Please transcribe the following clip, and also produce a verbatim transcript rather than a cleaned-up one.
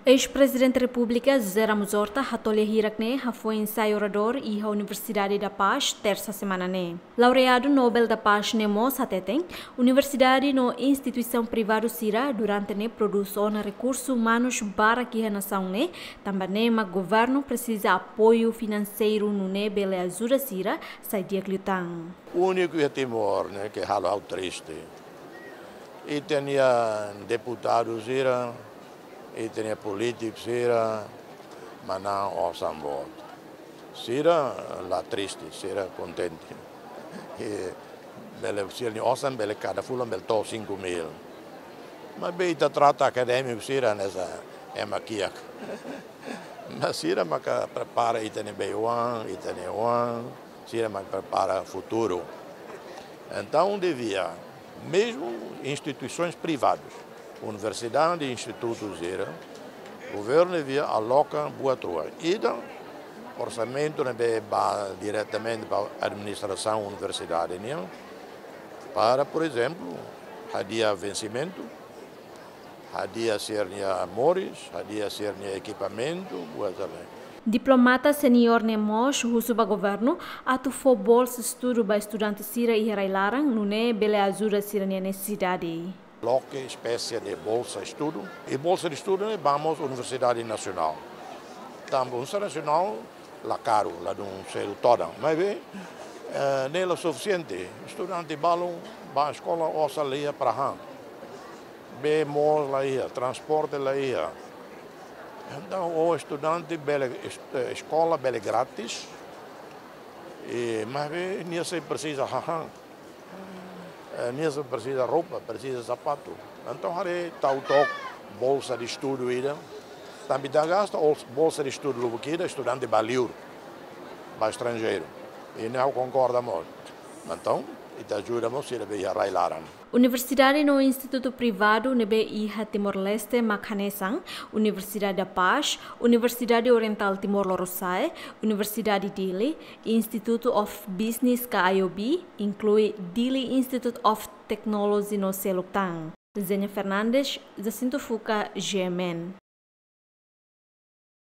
Eis-Prezidente Repúblika José Ramos Horta hato'o lia hirak-ne'e hafoin sai oradór iha Universidade da Paz, tersa semana ne'e. Laureadu Nobel da Paz ne'e mós hateten, universidade no instituisaun privadu sira durante ne'e prodús ona rekursu umanus barak iha nasaun ne'e, tanba ne'e mak governu presiza apoiu finanseiru nune'e bele ajuda sira sai di'ak liután. Úniku iha Timor ne'e ke halo ha'u triste. Ita-nia deputadu sira, ita-nia polítiku sira, manán osan boot. Sira la triste, sira kontente. I bele sira-nia osan bele kada fulan bele to'o cinco mil. Maibé ita trata akadémiku sira hanesan ema kiak. Mas sira maka prepara ita-nia bei-oan, ita-nia oan, sira maka prepara futuru. Entaun devia, mesmu instituisoens privadas, universidade, institutu sira, governu devia aloka buat rua. Ida, orsamentu ne'ebé ba diretamente ba administrasaun universidade nian, para, por ezemplu, hadi'a vensimentu, hadi'a sira-nia moris, hadi'a sira-nia ekipamentu, buat sira-ne'e. Diplomata seniór ne'e mós husu ba governu atu fó bolsa estudu ba estudante sira iha rai-laran, nune'e bele ajuda sira-nia nesesidade. Loke espésie de bolsa estudu. I bolsa de estudu ne'e ba mós universidade nasionál. Tanba universidade nasionál la karu, ladún selu todan. Maibé, eh, ne'e la sufisiente. Estudante balun ba eskola osan la iha para han. Bee moos la iha, transporte la iha. Entaun, o estudante bele est-, eh, eskola bele grátis. I, maibé, nia sei presiza hahán. Eh, nia sei presiza roupa, presiza sapatu. Entaun, haree tau took bolsa de estudu ida. Tanba ita gasta os-, bolsa de estudu lubuk ida, estudante ba liur, ba estranjeiru. I ne'e ha'u konkorda mós. Entaun, ita ajuda mós sira be iha rai-laran. Universidade no institutu privadu ne'ebé iha Timor-Leste mak hanesan Universidade da Paz, Universidade Orientál Timor Lorosa'e, Universidade Dili, Institute of Business ka I O B, inklui Dili Institute of Technology no seluk tan. Zenia Fernandes, Jacinto Fuca, G M N.